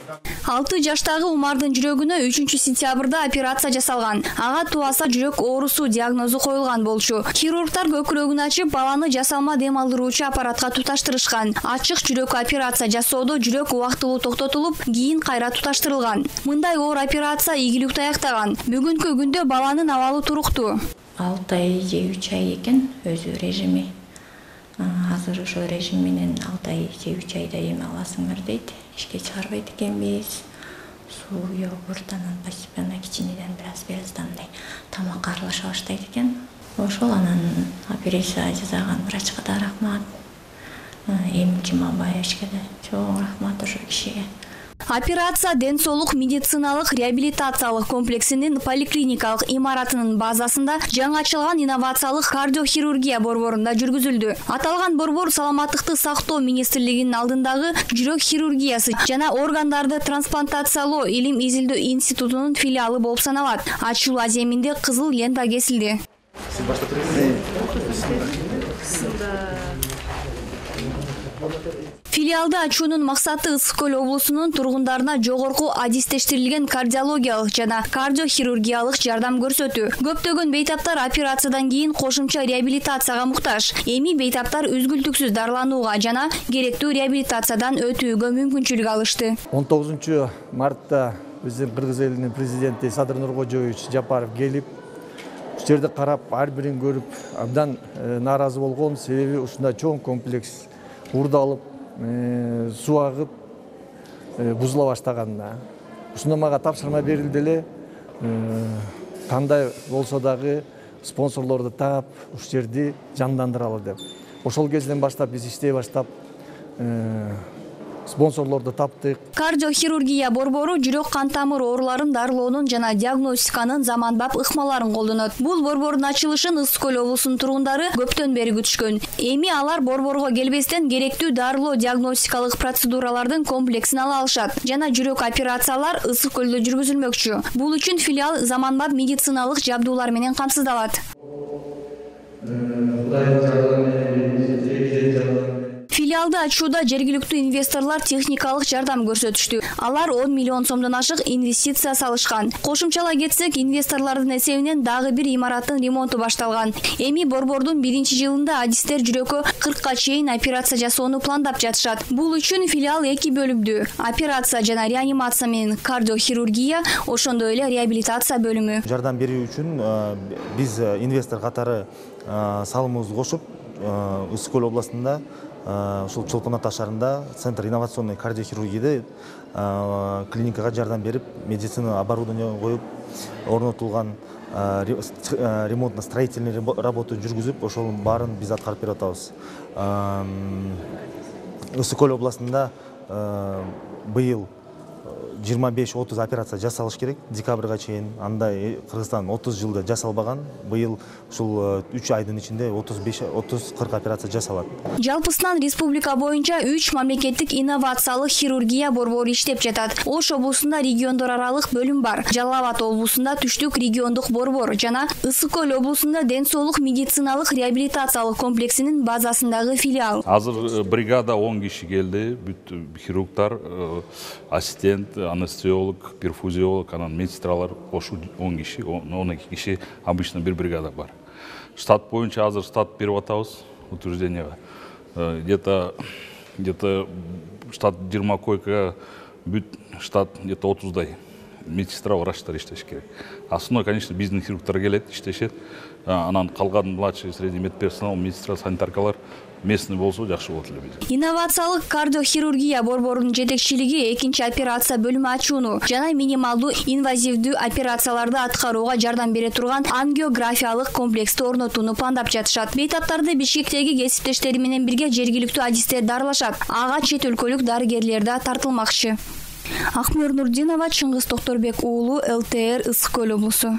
6 жаштагы Умардын жүрөгүнө 3-сентябрда операция жасалган. Ага туаса жүрөк оорусу диагнозу коюлган болчу. Хирургдар көкүрөгүн ачып, баланы жасалма дем алдыруучу аппаратка туташтырышкан. Ачык жүрөк операция жасоодо жүрөк убактылуу токтотулуп, кийин кайра туташтырылган. Мындай оор операция ийгиликтүү аяктаган. Бүгүнкү күндө баланын абалы туруктуу. 6 ай же 3 ай экен өзү режими. Азыр ошо режим менен 6 ай же 3 айда эме аласыңар дейт. Ишке чыгарбайт экенбиз. Суу, йогурт, анан постепенно кичинеден бираз мындай тамакка аралаша баштайт экен. Ошол анан операция жасаган врачка да рахмат. Эмчи Мамбаевичке да чоң рахмат ошо кишиге. Операция ден соолук медициналык реабилитациялык комплексинин поликлиникалык имаратынын базасында жаңы ачылган инновациялык кардиохирургия борборунда жүргүзүлдү. Аталган борбор саламаттыкты сактоо министрлигинин алдындагы жүрөк хирургиясы жана органдарды трансплантациялоо илим изилдөө институтунун филиалы болуп саналат. Ачылуу аземинде кызыл лента кесилди. Филиалды ачуунун максаты Ысык Көл облусунун тургундарына жогорку адистештирилген кардиологиялык жана кардиохирургиялык жардам көрсөтүү. Көптөгөн бейтаптар операциядан кийин кошумча реабилитацияга муктаж. Эми бейтаптар үзгүлтүксүз дарыланууга жана керектүү реабилитациядан өтүүгө мүмкүнчүлүк алышты. 19 мартта биздин Кыргыз элинин президенти Садыр Нуркожоевич Жапаров келип, ушул жерди карап, ар бирин көрүп, абдан нааразы болгон. Себеби ушундай чоң комплекс уурдалып, суу агып, бузула баштаганына. Ушундо мага тапшырма берилди эле, кандай болсо дагы спонсорлорду таап, ушул жерди жандандыралы деп. Ошол кезден баштап биз иштей баштап, спонсорлорду таптык. Кардиохирургия борбору жүрөк кан тамыр ооруларын дарылоонун жана диагностиканын заманбап ыкмаларын колдонот. Бул борбордун ачылышын Ысык Көл облусунун тургундары көптөн бери күтүшкөн. Эми алар борборго келбестен керектүү дарылоо диагностикалык процедуралардын комплексин ала алышат жана жүрөк операциялар Ысык Көлдө жүргүзүлмөкчү. Бул үчүн филиал заманбап медициналык жабдуулар менен камсыздалат. Филиалды ачууда жергиликтүү инвесторлор техникалык жардам көрсөтүштү. Алар 10 миллион сомдон ашык инвестиция салышкан. Кошумчалай кетсек, инвесторлордун эсебинен дагы бир имараттын ремонту башталган. Эми борбордун 1-жылында адистер жүрөккө 40ка чейин операция жасоону пландап жатышат. Бул үчүн филиал 2 бөлүмдүү: операция жана реанимация менен кардиохирургия, ошондой эле реабилитация бөлүмү. Жардам берүү үчүн биз инвестор катары салымыбызды кошуп, Ысык Көл областында ушул Чолпон Ата шаарында Центр инновационной кардиохирургияда клиникага жардам берип, медицина оборудование коюп, орнотулган ремонтно-строительный работа жүргүзүп, ошол баарын биз аткарып берип атабыз. Ысык Көл областында быйыл 25-30 операция жасалыш керек декабрга чейин. Андай Кыргызстан 30 жылда жасалбаган. Быйыл ушул 3 айдын ичинде 30-40 операция жасалат. Жалпысынан республика боюнча 3 мамлекеттик инновациялык хирургия борбору иштеп жатат. Ош облусунда региондор аралык бөлүм бар. Жалал Абад облусунда Түштүк региондук борбор жана Ысык Көл облусунда ден соолук медициналык реабилитациялык комплексинин базасындагы филиал. Азыр бригада 10 киши келди. Бүт хирургдар, ассистент, анестезиолог, перфузиолог, анан медсестралар кошу 10 киши, 12 киши обычно бир бригада бар. Штат боюнча азыр штат берип атабыз утвержденияга. Где-то штат 20 койка, бүт штат где-то 30-дай медсестра, врачтар иштеш керек. Основной, конечно, биздин хирургдар келет, иштешет. Анан калган младший средний медперсонал, медсестра, санитаркалар местный болсо жакшы болот эле биз. Инновациялык кардиохирургия борборунун жетекчилиги 2-чи операция бөлүмү ачууну жана минималдуу инвазивдүү операцияларды аткарууга жардам бере турган ангиографиялык комплексти орнотууну пландап жатышат. Бейтаптарды Бишкектеги кесиптештери менен бирге жергиликтүү адистер дарылашат. Ага чет өлкөлүк дарыгерлер да тартылмакчы. Акмөр Нурдинова, Чыңгыз Токторбек уулу, ЛТР, Ысык Көл облусу.